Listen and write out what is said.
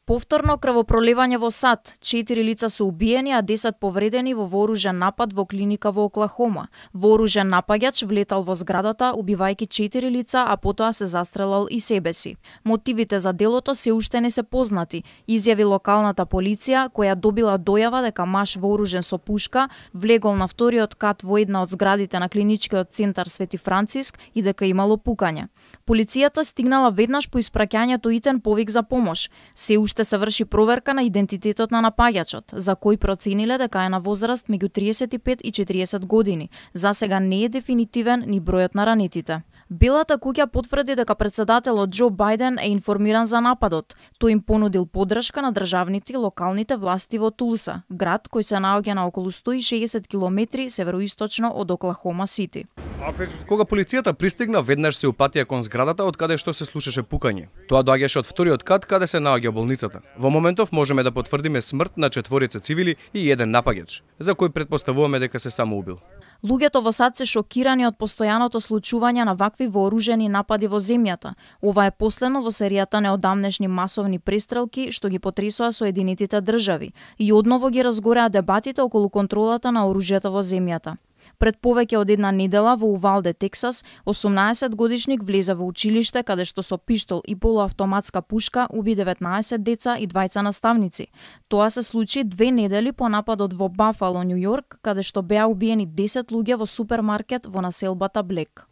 Повторно крвопроливање во САД. 4 лица се убиени, а 10 повредени во вооружен напад во клиника во Оклахома. Вооружен напаѓач влетал во зградата, убивајќи 4 лица, а потоа се застрелал и себе си. Мотивите за делото се уште не се познати, изјави локалната полиција, која добила дојава дека маж вооружен со пушка влегол на вториот кат во една од зградите на клиничкиот центар Свети Франциск и дека имало пукање. Полицијата стигнала веднаш по испраќањето итен повик за помош. Се уште се врши проверка на идентитетот на напаѓачот, за кој процениле дека е на возраст меѓу 35 и 40 години. За сега не е дефинитивен ни бројот на ранетите. Белата куќа потврди дека председателот Џо Бајден е информиран за нападот. Тој им понудил поддршка на државните и локалните власти во Тулса, град кој се наоѓа на околу 160 километри североисточно од Оклахома Сити. Кога полицијата пристигна, веднаш се упатија кон зградата од каде што се слушаше пукање. Тоа доаѓаше од вториот кат каде се наоѓа болницата. Во моментов можеме да потврдиме смрт на 4 цивили и еден напаѓач, за кој претпоставуваме дека се самоубил. Луѓето во САД се шокирани од постојаното случување на вакви вооружени напади во земјата. Ова е последно во серијата неодамнешни масовни престрелки што ги потресоа Соединетите држави и одново ги разгореа дебатите околу контролата на оружјето во земјата. Пред повеќе од една недела во Увалде, Тексас, 18-годишник влезе во училиште каде што со пиштол и полуавтоматска пушка уби 19 деца и 2 наставници. Тоа се случи 2 недели по нападот во Бафало, Њу Јорк, каде што беа убиени 10 луѓе во супермаркет во населбата Блек.